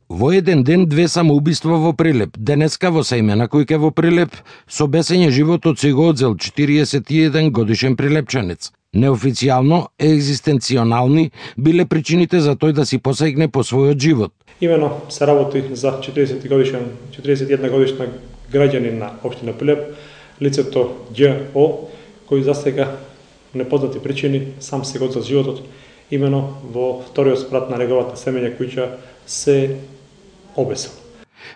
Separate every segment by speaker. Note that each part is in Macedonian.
Speaker 1: Во еден ден две самоубиства во Прилеп. Денеска во Сајмена Кујке во Прилеп со бесење животот си го одзел 41 годишен прилепчанец. Неофицијално, екзистенционални биле причините за тој да си посегне по својот живот.
Speaker 2: Имено се работи за 41 годишна граѓанин на општина Прилеп, лицето Џ.О, кој за сега непознати причини сам се го одзел животот, имено во вториот спрат на неговата семења куќа се обесил.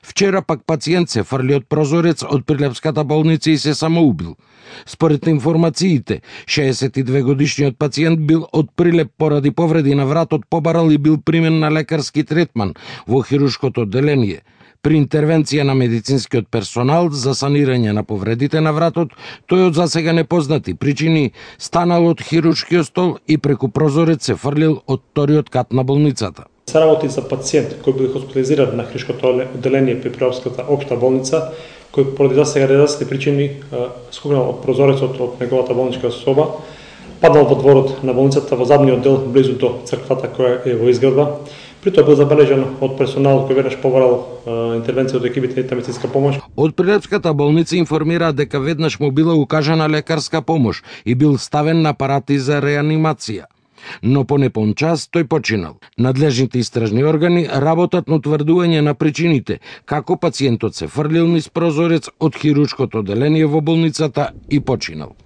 Speaker 1: Вчера пак пациент се фрли од прозорец од Прилепската болница и се самоубил. Според информациите, 62 годишниот пациент бил од Прилеп поради повреди на вратот побарал и бил примен на лекарски третман во хируршкото одделение. При интервенција на медицинскиот персонал за санирање на повредите на вратот, тој од засега непознати причини станал од хируршкиот стол и преку прозорец се фрлил од вториот кат на болницата.
Speaker 2: Се работи за пациент кој бил хоспитализиран на хируршкото одделение при Прилепската општа болница, кој поради засега неразни причини скокнал од прозорецот од неговата болничка соба, паднал во дворот на болницата во задниот дел близу до црквата која е во изградба. При тоа бил забележан од персонал кој веднаш побарал интервенција од екипите на медицинска помош.
Speaker 1: Од Прилепската болница информира дека веднаш му била укажана лекарска помош и бил ставен на апарати за реанимација. Но по непон час тој починал. Надлежните истражни органи работат на утврдување на причините како пациентот се фрлил низ прозорец од хируршкото одделение во болницата и починал.